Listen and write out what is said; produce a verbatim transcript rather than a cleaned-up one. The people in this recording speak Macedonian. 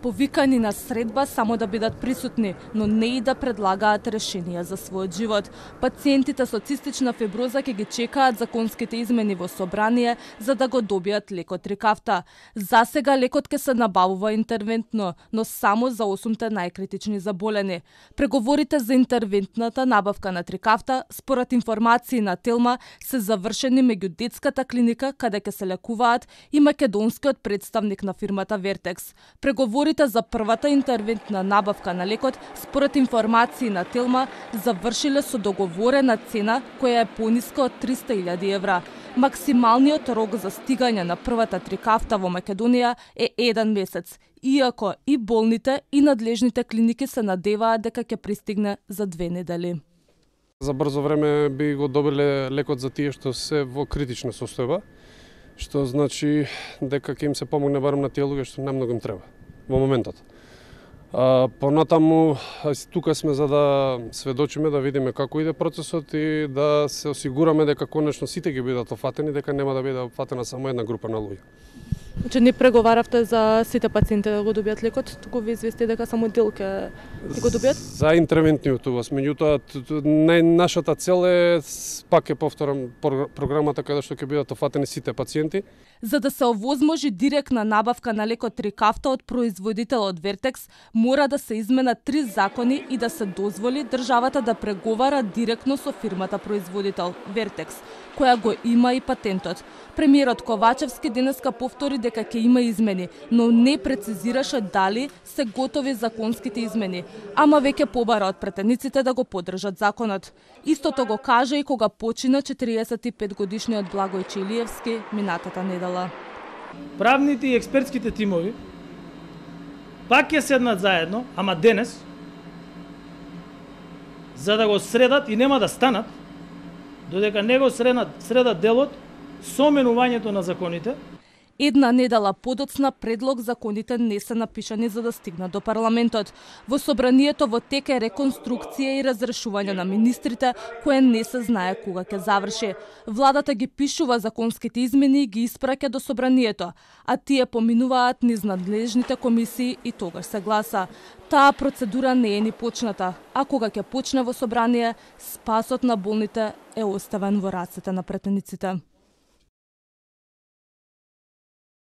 повикани на средба само да бидат присутни, но не и да предлагаат решенија за својот живот. Пациентите со цистична фиброза ќе ги чекаат законските измени во собрание за да го добијат лекот Трикафта. За сега лекот ќе се набавува интервентно, но само за осумте најкритични заболени. Преговорите за интервентната набавка на Трикафта, според информации на Телма, се завршени меѓу детската клиника каде ќе се лекуваат и македонскиот представник на фирмата Вертекс. Преговорите за првата интервентна набавка на лекот, според информации на Телма, завршиле со договорена цена која е пониска од триста илјади евра. Максималниот рок за стигање на првата Трикафта во Македонија е еден месец, иако и болните и надлежните клиники се надеваат дека ќе пристигне за две недели. За брзо време би го добиле лекот за тие што се во критична состојба, што значи дека ќе им се помогне барем на тие луѓе што најмногу им треба во моментот. А, понатаму, тука сме за да сведочиме, да видиме како иде процесот и да се осигураме дека конечно сите ги бидат офатени, дека нема да биде офатена само една група на луѓе. Че не преговаравте за сите пациенти да го добијат лекот, туку ви извести дека само дел ќе го добијат? За интервентниот увоз, меѓутоа нашата цел е, пак ќе повторам, програмата каде што ќе бидат офатени сите пациенти. За да се овозможи директна набавка на лекот Трикафта од производителот Вертекс, мора да се изменат три закони и да се дозволи државата да преговара директно со фирмата производител Вертекс, која го има и патентот. Премиерот Ковачевски денеска повтори дека ќе има измени, но не прецизираше дали се готови законските измени, ама веќе побара од претениците да го поддржат законот. Истото го кажа и кога почина четириесет и пет годишниот Благој Чилиевски минатата недела. Правните и експертските тимови пак ќе седнат заедно, ама денес, за да го средат и нема да станат, додека не го средат, средат делот со менувањето на законите. Една недела подоцна предлог законите не се напишани за да стигнат до парламентот. Во собранието во тек е реконструкција и разрешување на министрите, кое не се знае кога ќе заврши. Владата ги пишува законските измени и ги испраќа до собранието, а тие поминуваат низ надлежните комисии и тогаш се гласа. Таа процедура не е ни почната, а кога ќе почне во собрание, спасот на болните е оставен во рацете на претениците.